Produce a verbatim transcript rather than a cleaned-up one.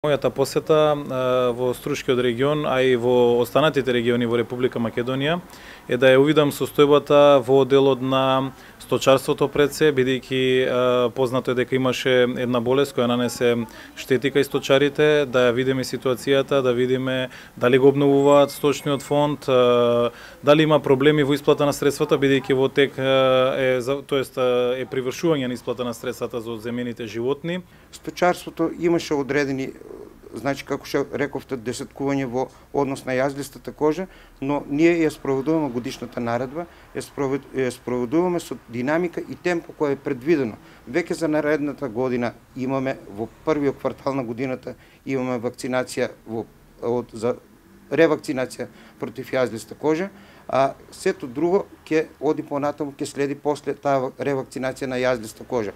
Мојата посета во Струшкиот регион, а и во останатите региони во Република Македонија е да ја увидам состојбата во делот на сточарството пред се, бидејќи познато е дека имаше една болест која нанесе штети кај сточарите, да ја видиме ситуацијата, да видиме дали го обновуваат сточниот фонд, дали има проблеми во исплата на средствата, бидејќи во тек е, тоест е привршување на исплата на средствата за земените животни. Сточарството имаше одредени, значи како што рековте, десеткување во однос на јазлистата кожа, но ние ја спроведуваме годишната наредба, ја спроведуваме со динамика и темпо кој е предвидено. Веќе за наредната година имаме, во првиот квартал на годината имаме вакцинација во, од, за ревакцинација против јазлиста кожа, а сето друго ќе оди понатаму, ќе следи после таа ревакцинација на јазлиста кожа.